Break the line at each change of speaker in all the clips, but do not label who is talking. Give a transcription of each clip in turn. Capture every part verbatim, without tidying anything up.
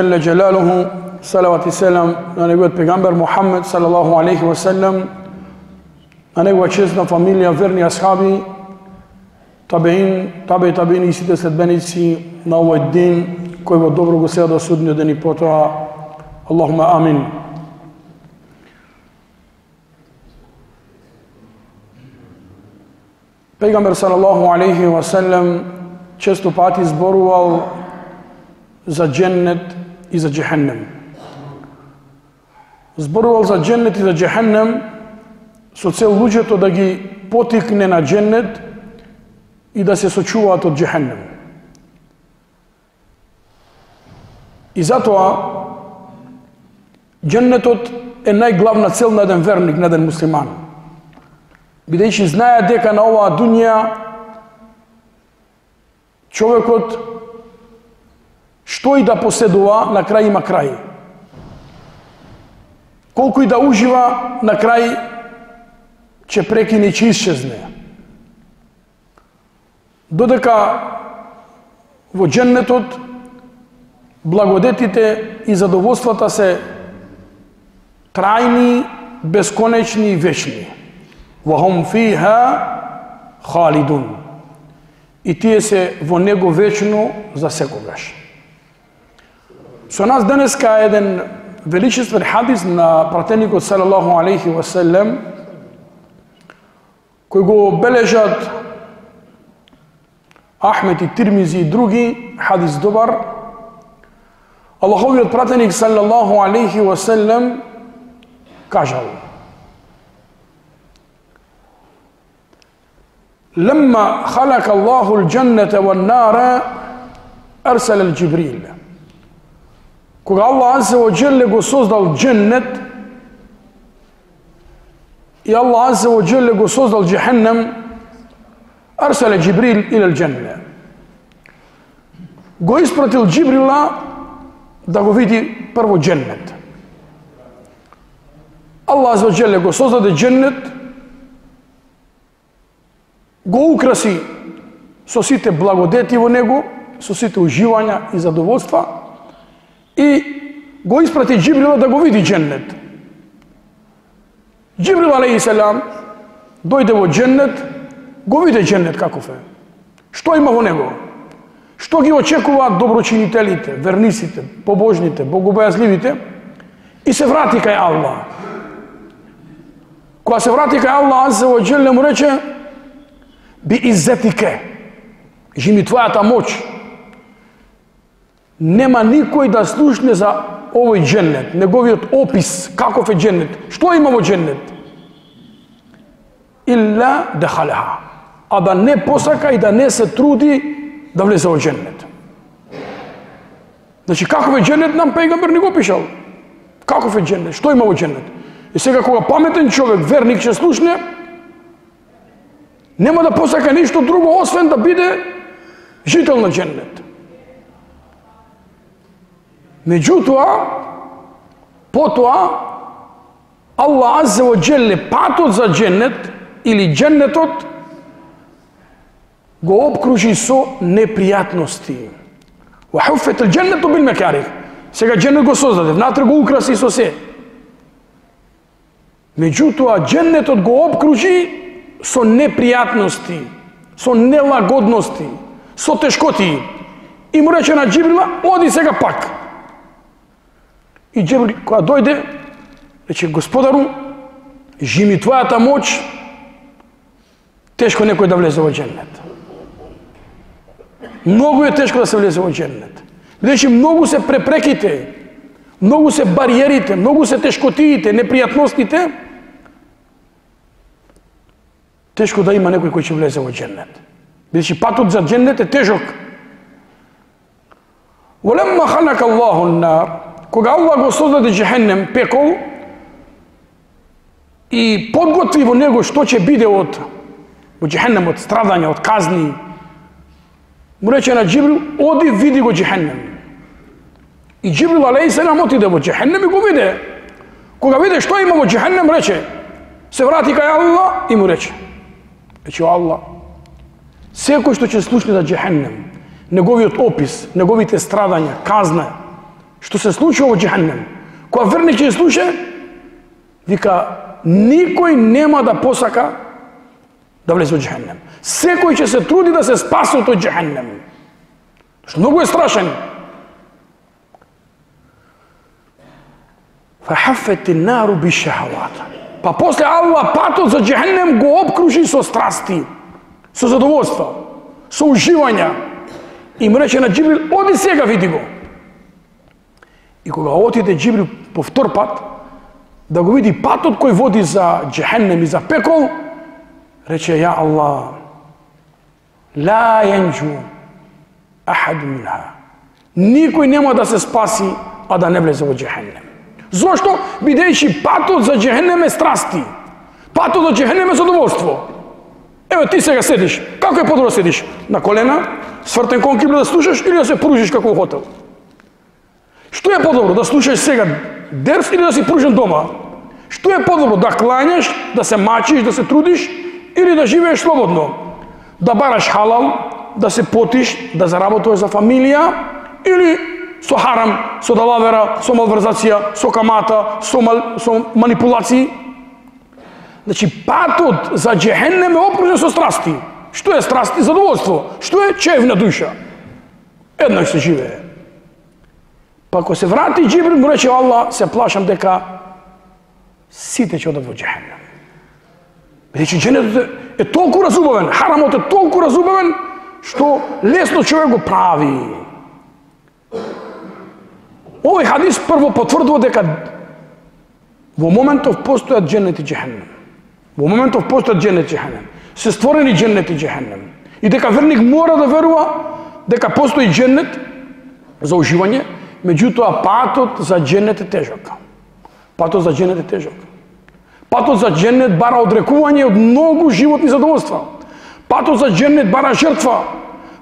Jelle Jalaluhu, salavat i selam na negovët pejgamber Muhammed sallallahu alaihi wa sallam, na negova česna familija, verni ashabi, tabein, tabe i tabein i sите sledbenici na ovoj din koji во dobro го сега до судниот ден и потоа. Allahumma amin. Pejgamber sallallahu alaihi wa sallam često pati zborувал за дженнет и за джехеннем. Зборувал за дженнет и за джехеннем со цел луѓето да ги потикне на дженнет и да се сочуваат од джехеннем. И затоа дженнетот е најглавна цел на еден верник, на еден муслиман. Бидејќи знае дека на оваа дуња човекот што и да поседува, на крај има крај. Колку и да ужива, на крај ќе прекине и ќе исчезне. Додека во дженнетот благодетите и задоволствата се трајни, бесконечни и вечни. وَهُمْ فِيهَا خَالِدُونَ. И тие се во него вечно за секогаш. Со нас денеска е еден величествен хадис на пратеникот салаллаху алейхи ва саллем, кој го бележат Ахмед и Тирмизи и други, хадис добар. Аллаховиот пратеник салаллаху алейхи ва саллем кажал: لما خلق الله الجنة والنار أرسل الجبريل. Кога Аллах азza ва джелле го создал дженнет и Аллах азza ва джелле го создал джехеннем, أرسل جبريل إلى الجنة. Го испратил Джибрила да го види прво дженнет. Аллах азza ва джелле го создаде дженнет, го украси со сите благодети во него, со сите уживања и задоволства, и го испрати Джибрила да го види дженнет. Джибрил алейхиссалам дојде во дженнет, го виде дженнет каков е. Што има во него? Што ги очекуваат доброчинителите, верниците, побожните, богобојазливите, и се врати кај Аллах. Кога се врати кај Аллах азza ва джелле му рече: би иззетике, жими твојата моќ, нема никој да слушне за овој дженнет, неговиот опис, каков е дженнет, што има во дженнет. Илла дехалеха, а да не посака и да не се труди да влезе во дженнет. Значи, каков е дженнет, нам пејгамбер не го пишал. Каков е дженнет, што има во дженнет. И сега кога паметен човек, верник, ќе слушне, нема да посака ништо друго, освен да биде жител на дженнет. Меѓутоа, потоа, Аллах азza ва джелле патот за дженнет или дженнетот го обкружи со непријатности. Ва хуффет ал-дженнету бил макарих. Сега дженнет го создаде, внатре го украси со се. Меѓутоа, дженнетот го обкружи со непријатности, со нелагодности, со тешкоти. И му рече на Джибрила: оди сега пак. И Джибрил, кога дојде, рече: Господару, жими твојата моќ, тешко некој да влезе во дженнет. Многу е тешко да се влезе во дженнет. Бидејќи многу се препреките, многу се бариерите, многу се тешкотиите, непријатностите, тешко да има некој кој ќе влезе во дженнет. Бидејќи патот за дженнет е тежок. Волемма халака Аллаху ан-нар, кога Аллах го создаде джехеннем, пекол, и подготви во него што ќе биде од во джехеннем, од страдања, од казни, му рече на Джибрил: оди види го джехеннем. И Джибрил алейхиссалам отиде во джехеннем и го виде. Кога виде што има во джехеннем, рече, се врати кај Аллах и му рече: рече: Аллах, секој што ќе слушне за джехеннем, неговиот опис, неговите страдања, казна, што се случува во џехенем. Кога верник ќе слуша, вика, никој нема да посака да влезе во џехенем. Секој ќе се труди да се спаси од тој џехенем. Што многу е страшен. فحفت النار بالشهوات. Па после Аллах патот за џехенем го обкружи со страсти, со задоволства, со уживања. И му рече на Џибрил, оди сега види го. И кога отиде Џибрил по втор пат, да го види патот кој води за џехенем и за пекол, рече, ја Аллах, ла јанџу ахад минха. Никој нема да се спаси, а да не влезе во џехенем. Зошто? Бидејќи патот за џехенем е страсти. Патот за џехенем е задоволство. Еве ти сега седиш. Како е подобро седиш? На колена, свртен кон кибла да слушаш или да се пружиш како во хотел? Што е подобро? Да слушаш сега дерс или да си пружен дома? Што е подобро? Да клањаш, да се мачиш, да се трудиш или да живееш слободно? Да бараш халал, да се потиш, да заработуваш за фамилија или со харам, со далавера, со малверзација, со камата, со, мал, со манипулации? Значи, патот за џехенем е окружен со страсти. Што е страсти? Задоволство. Што е чевна душа? Еднаш се живее. Па ако се врати Џибрил, му рече Аллах, се плашам дека сите ќе одат во џехенем. Бидејќи џенетот е толку разубавен, харамот е толку разубавен, што лесно човек го прави. Овој хадис прво потврдува дека во моментов постојат џенет и џехенем. Во моментов постојат џенет и џехенем. Се створени џенет и џехенем. И дека верник мора да верува дека постои џенет за уживање, меѓутоа патот за џенет е тежок. Патот за џенет е тежок. Патот за џенет бара одрекување од многу животни задоволства. Патот за џенет бара жртва.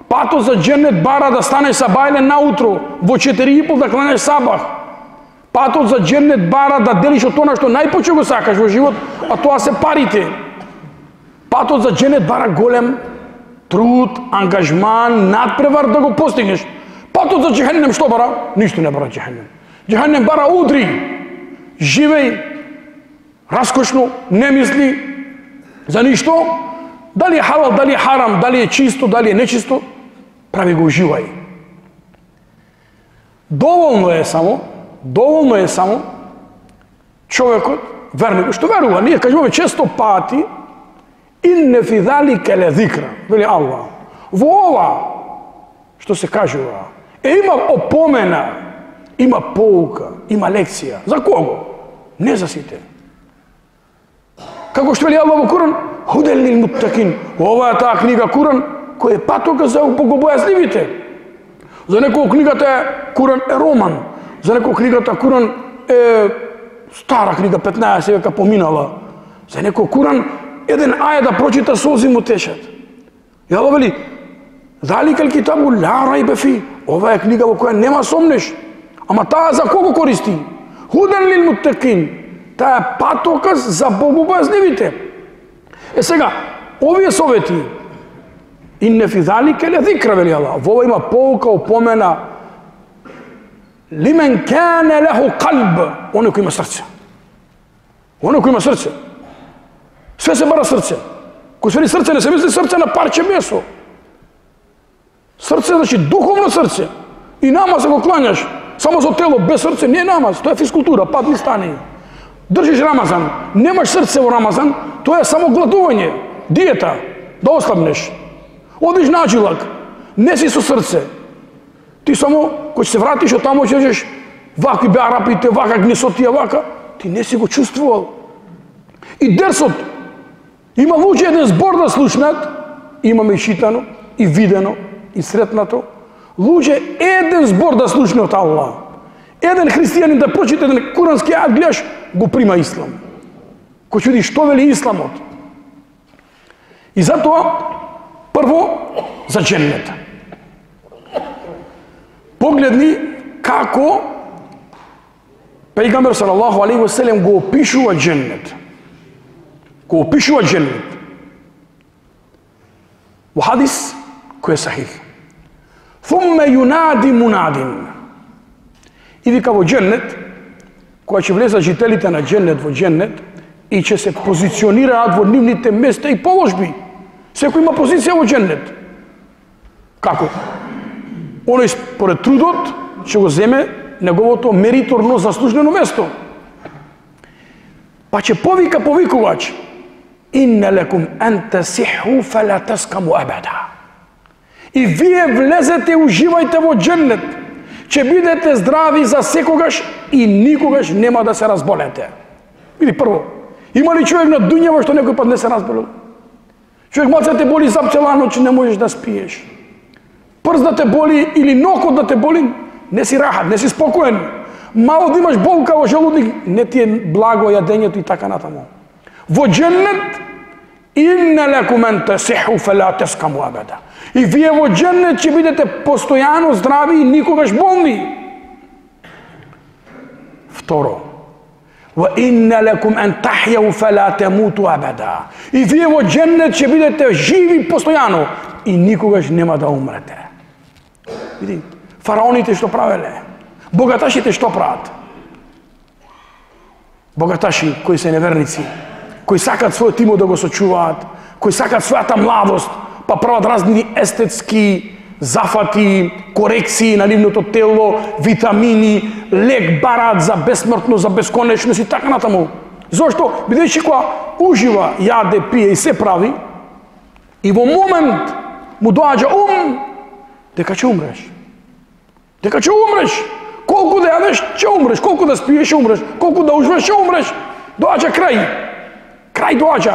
Патот за џенет бара да станеш сабајлен наутро, во четири и пол да кланеш сабах. Патот за џенет бара да делиш од тоа што најпоче го сакаш во живот, а тоа се парите. Патот за џенет бара голем труд, ангажман, надпревар да го постигнеш. Патот за џехенем што бара? Ништо не бара џехенем. Џехенем бара удри. Живеј раскошно, не мисли за ништо. Дали е халал, дали е харам, дали е чисто, дали е нечисто, прави го уживај. Доволно е само, доволно е само човекот, верникот, што верува, ние кажуваме често пати, инне фи залика лезикра, вели Аллах. Во ова што се кажува, е има опомена, има поука, има лекција. За кого? Не за сите. Како што вели Аллах во Куран, худел лил муттакин. Ова е таа книга Куран, која е патока за богобојазливите. За некој книгата е Куран е роман, за некој книгата Куран е стара книга, петнаесет века поминала. За некој Куран еден ајет да прочита солзи му тешат. И Аллах вели, заликал китабу ла рајбе фи. Ова е книга во која нема сомнеш. Ама таа за кого користи? Худен лил муттакин. Таа е патоказ за богобојазливите. Е сега, овие совети, инне фи залика лезикра, вели Аллах. Во ова има поука, опомена. Лимен кане леху калб. Оне кој има срце. Оне кој има срце. Све се бара срце. Кој се вели срце, не се мисли срце на парче месо. Срце значи духовно срце. И намаз го клањаш само за тело, без срце не е намаз, тоа е физкултура, падни стани. Држиш Рамазан, немаш срце во Рамазан, тоа е само гладување, диета, да ослабнеш. Одиш на джилак, не си со срце. Ти само, кој се вратиш од тамо, ќе кажеш, вакви беа арапите, вака гнесотија, вака, ти не си го чувствувал. И дерсот, има луѓе еден збор да слушнат, имаме и читано, и видено, и сретнато, луѓе еден збор да слушне од Аллах. Еден христијанин да прочита еден курански ајет, гледаш, го прима ислам. Кој чуди што вели исламот. И затоа, прво, за џеннет. Погледни како Пејгамбер салаллаху алейхи ва селем го опишува џеннет. Го опишува џеннет. Во хадис кој е сахих. Thumma yunadi munadin. И вика во дженнет, кога ќе влезат жителите на дженнет во дженнет, и ќе се позиционираат во нивните места и положби. Секој има позиција во дженнет. Како? Оној според трудот ќе го земе неговото мериторно заслужено место. Па ќе повика повикувач: инна лекум ан тасиху фала таскаму абада. И вие влезете, уживајте во дженнет, ќе бидете здрави за секогаш и никогаш нема да се разболете. Или прво, има ли човек на дуњава што некој пат не се разболел? Човек малце те боли зап цела ноќ, не можеш да спиеш. Прст да те боли или нокот да те боли, не си рахат, не си спокоен. Мало да имаш болка во желудник, не ти е благо јадењето и така натаму. Во дженнет, инна лекум ан тасиху фала таскаму абада. И вие во дженнет ќе бидете постојано здрави и никогаш болни. Второ, ва инна лекум ан тахјау фала тамуту абада. И вие во дженнет ќе бидете живи постојано и никогаш нема да умрете. Види, фараоните што правеле, богаташите што прават? Богаташи кои се неверници, кои сакат својот имот да го сочуваат, кои сакат својата младост, па прават разни естетски зафати, корекции на нивното тело, витамини, лек барат за бесмртно, за бесконечност и така натаму. Зошто? Бидејќи кога ужива, јаде, пие и се прави, и во момент му доаѓа ум дека ќе умреш. Дека ќе умреш. Колку да јадеш, ќе умреш. Колку да спиеш, ќе умреш. Колку да уживаш, ќе умреш. Доаѓа крај. Крај доаѓа.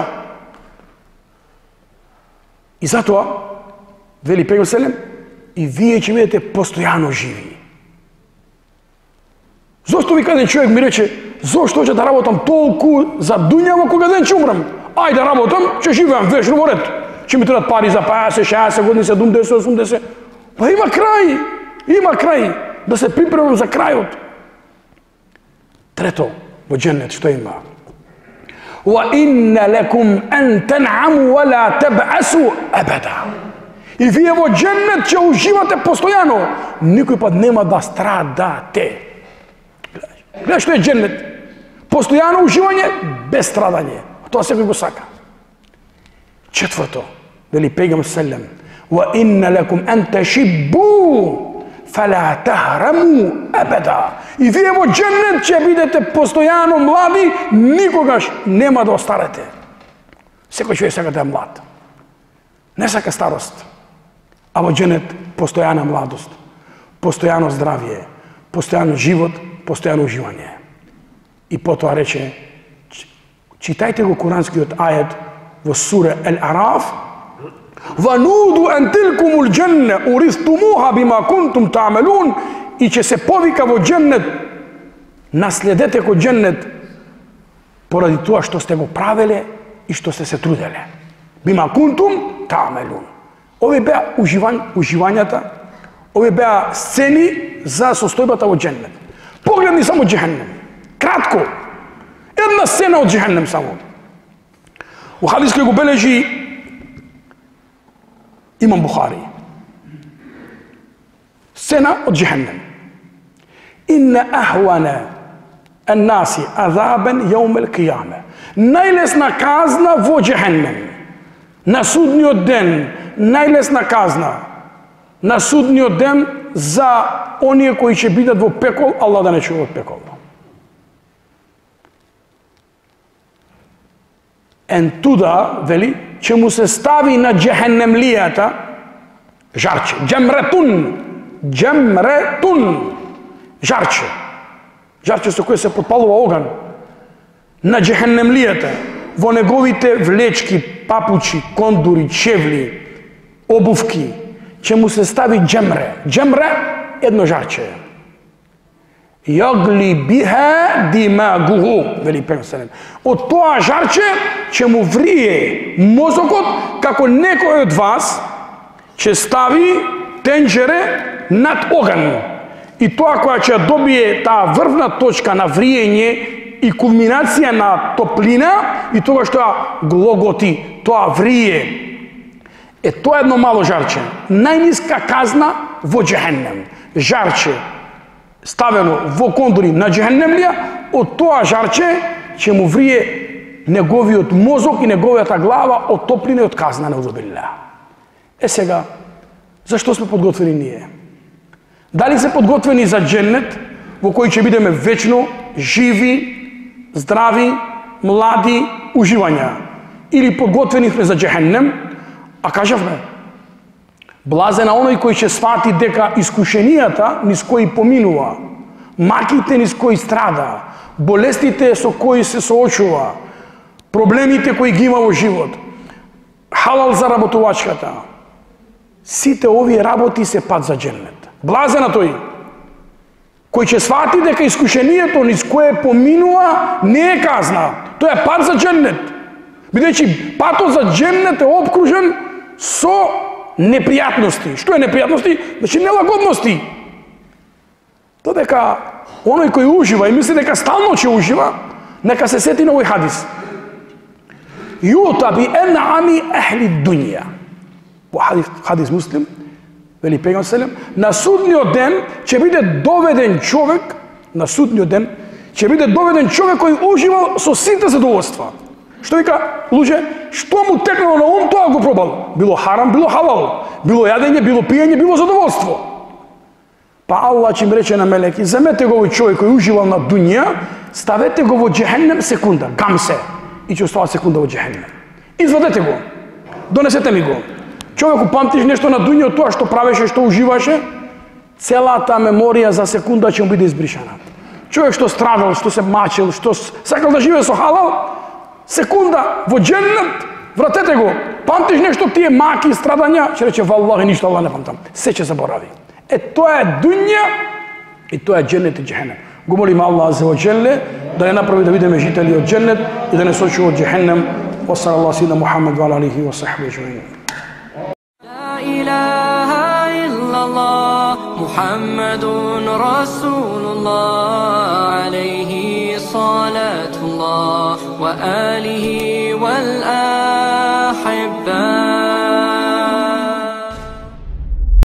И затоа, вели Пегамбер селем, и вие ќе бидете постојано живи. Зошто вика еден човек ми рече, зошто ќе да работам толку за дуњава кога ден ќе умрам? Ајде да работам, ќе живеам вечно во ред. Ќе ми требат пари за петдесет, шеесет години, седумдесет, осумдесет. Па има крај, има крај. Да се припремам за крајот. Трето, во дженнет што има? Ва инна лекум ан тан'аму ва ла таб'асу абада. И вие во дженнет ќе уживате постојано, никој пат нема да страдате. Гледај што е дженнет. Постојано уживање без страдање. Тоа секој го сака. Четврто, вели Пегамбер селем, ва инна лекум ан ташиббу фала тахраму абада. И вие во дженнет ќе бидете постојано млади, никогаш нема да остарете. Секој човек сака да е млад. Не сака старост. А во дженнет постојана младост, постојано здравје, постојано живот, постојано уживање. И потоа рече, читајте го куранскиот ајет во сура Ал-Араф, وَنُودُ أَنْ تِلْكُمُ الْجَنَّةُ أُرِثْتُمُوهَا بِمَا كُنْتُمْ تَعْمَلُونَ. И ќе се повика во дженнет, наследете го дженнет поради тоа што сте го правеле и што сте се труделе. Бима кунтум та'мелун. Овие беа уживањ, уживањата, овие беа сцени за состојбата во дженнет. Погледни само джехеннем. Кратко. Една сцена од джехеннем само. У хадис кој го бележи Имам Бухари. Сцена од джехеннем. Инна ахвана الناس عذابا يوم القيامة. Најлесна казна во джехеннем. На судниот ден, најлесна казна на судниот ден за оние кои ќе бидат во пекол, Аллах да не чува од пекол. Ен туда, вели, ќе му се стави на джехеннемлијата жарче. Джемретун. Джемретун. Жарче. Жарче со кој се подпалува оган. На джехеннемлијата, во неговите влечки, папучи, кондури, чевли, обувки, ќе му се стави джемре. Джемре, едно жарче. Јагли биха димагуху, вели Пегамбер. Од тоа жарче ќе му врие мозокот, како некој од вас ќе стави тенџере над оган. И тоа која ќе добие таа врвна точка на вриење и кулминација на топлина, и тоа што глоготи, тоа врие. Е, тоа е едно мало жарче. Најниска казна во джехеннем. Жарче. ставено во кондори на џехенемлија, од тоа жарче ќе му врие неговиот мозок и неговијата глава од топлина и од казна на узубилля. Е сега, зашто сме подготвени ние? Дали се подготвени за џеннет, во кој ќе бидеме вечно, живи, здрави, млади, уживања? Или подготвени сме за џехенем, а кажавме, блазен оној кој ќе свати дека искушенијата низ кои поминува, маките низ кои страда, болестите со кои се соочува, проблемите кои ги има во живот, халал за работувачката, сите овие работи се пат за џеннет. Блазен на тој кој ќе свати дека искушението низ кое поминува не е казна, тоа е пат за џеннет, бидејќи патот за џеннет е обкружен со непријатности. Што е непријатности? Значи нелагодности. Додека оној кој ужива и мисли дека стално ќе ужива, нека се сети на овој хадис. Јута би ен'ами ахли дуња. Во хадис, хадис муслим, вели пегам селем, на судниот ден ќе биде доведен човек, на судниот ден ќе биде доведен човек кој уживал со сите задоволства. Што вика, луѓе, што му текнало на ум, тоа го пробал. Било харам, било халал, било јадење, било пиење, било задоволство. Па Аллах ќе им рече на мелеки, земете го овој човек кој уживал на дуња, ставете го во џехенем секунда, гамсе, и ќе остава секунда во џехенем. Извадете го, донесете ми го. Човеку, памтиш нешто на дуња од тоа што правеше, што уживаше, целата меморија за секунда ќе му биде избришана. Човек што страдал, што се мачил, што сакал да живее со халал, секунда во џеннет, вратете го. Памтиш нешто тие маки страдања, ќе рече валлахи ништо Аллах не памтам. Се ќе заборави. Е тоа е дуња и тоа е џеннет и џехенем. Го молиме Аллах азza wa jalla да не направи да бидеме жители од џеннет и да не сочува од џехенем. Wa sallallahu ala Muhammad wa ala alihi wa sahbihi ajma'in.
La ilaha illallah Muhammadun Rasulullah alayhi salatullah wa alihi wal ahibba